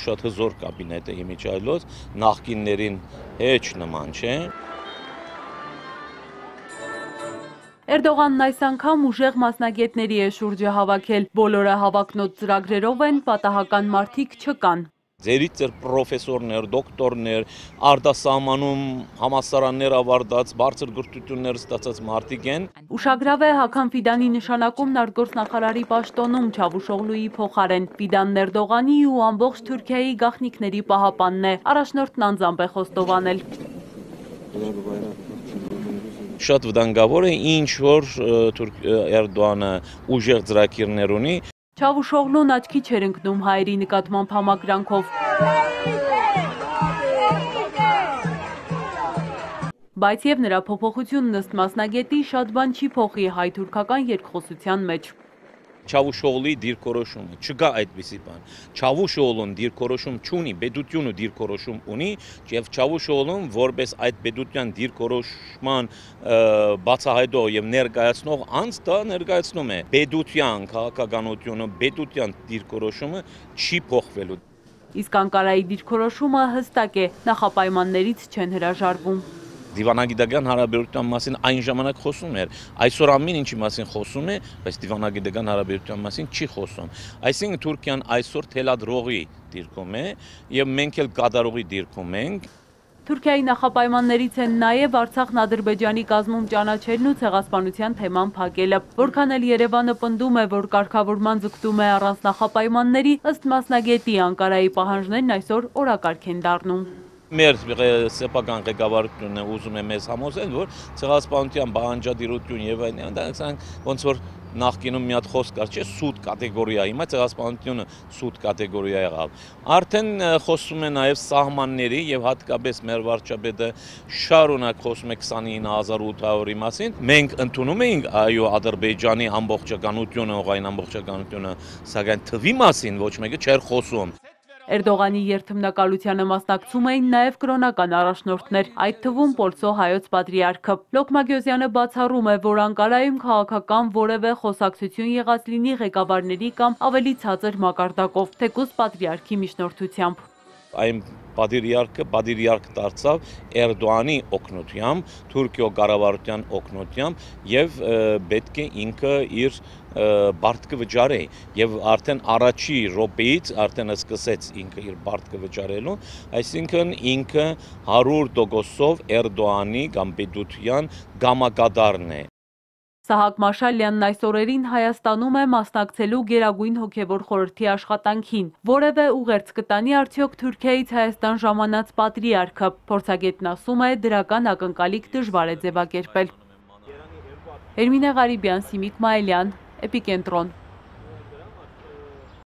շատ հզոր կաբինետ է իմիջայլոց, նախկիններին հեչ նման չէ։ Էրդողանն այս անգամ ուժեղ մասնագետների է շուրջը հավաքել, բոլորը հավակնոտ ծրագրերով են, պատահական մարդիկ չկան։ Ձերից էր պրոֆեսորներ, դոկտորներ, արտասահմանում համալսարաններ ավարտած, բարձր գրթություններ ստացած մարդիկ են։ Ուշագրավ է Հական Ֆիդանի նշանակումն արտգործնախարարի պաշտոնում Չավուշօղլուի փոխարեն։ Ֆիդանն Էրդողանի ու ամբողջ Թուրքիայի գաղտնիքների պահապանն է, առաջնորդն անձամբ է խոստովանել։ Շատ վտանգավոր է, ինչ որ Էրդողանը ուժեղ ծրագիրներ ունի։ Չավուշօղլուն աչքի չէր ընկնում հայերի նկատմամբ համակրանքով։ Բայց եւ նրա փոփոխությունն ըստ մասնագետի շատ բան չի փոխի հայ-թուրքական երկխոսության մեջ։ Չավուշօղլուի դիրքորոշումը, չկա այդպիսի բան։ Չավուշօղլուն դիրքորոշում չունի, պետությունը դիրքորոշում ունի, եւ Չավուշօղլուն որպես այդ պետության դիրքորոշման բացահայտող եւ ներկայացնող անձ դա ներկայացնում է։ Պետության քաղաքականությունը, պետության դիրքորոշումը չի փոխվելու։ Իսկ Անկարայի դիրքորոշումը հստակ է, նախապայմաններից չեն հրաժարվում։ Դիվանագիտական հարաբերության մասին այն ժամանակ խոսում էր, այսօր ամեն ինչի մասին խոսում է, բայց դիվանագիտական հարաբերության մասին չի խոսում։ Այսինքն Թուրքիան այսօր թելադրողի դիրքում է եւ մենք էլ կատարողի դիրքում ենք։ Թուրքիայի նախապայմաններից են նաև Արցախն Ադրբեջանի կազմում ճանաչելն ու ցեղասպանության թեման փակելը։ Որքան էլ Երևանը պնդում է, որ կարգավորման ձգտում է առանց նախապայմանների, ըստ մասնագետի Անկարայի պահանջներն այսօր օրակարգ են դառնում։ Մեր սեփական ղեկավարությունը ուզում է մեզ համոզել, որ ցեղասպանության բանջարդիրություն եւ այլն, ոնց որ նախկինում մի հատ խոսք կար, չէ, սուտ կատեգորիա, հիմա ցեղասպանությունը սուտ կատեգորիա եղավ։ Արդեն խոսում է նաեւ սահմանների եւ հատկապես մեր վարչապետը շարունակ խոսում է 29800-ի մասին։ Մենք ընդունում ենք այո Ադրբեջանի ամբողջականությունը, օղային ամբողջականությունը, սակայն թվի մասին ոչ մեկը չէր խոսում։ Էրդողանի երթմնակալությանը մասնակցում էին նաև կրոնական առաջնորդներ, այդ թվում Պոլսո հայոց պատրիարքը։ Լոքմագյոզյանը բացառում է, որ Անկարայում քաղաքական որևէ խոսակցություն եղած լինի ղեկավարների կամ ավելի ցածր մակարդակով, թեկուզ պատրիարքի միջնորդությամբ։ Այն պատրիարք դարձավ Էրդողանի օգնությամբ, Թուրքիո կառավարության օգնությամբ եւ պետք է ինքը իր բարտկը վճարի եւ արդեն առաջի րոպեից արդեն սկսեց ինքը իր բարտկը վճարելու, այսինքն ինքը 100%-ով Էրդողանի կամ պետության գամակատարն է։ Սահակ Մաշալյանն այս օրերին Հայաստանում է մասնակցելու Գերագույն հոգևոր խորհրդի աշխատանքին։ Որևէ ուղերձ կտանի արդյոք Թուրքիայից Հայաստան ժամանած պատրիարքը։ Փորձագետն ասում է, դրական ակնկալիք դժվար է ձևակերպել։ Էրմինե Ղարիբյան, Սիմիկ Մայիլյան, Էպիկենտրոն։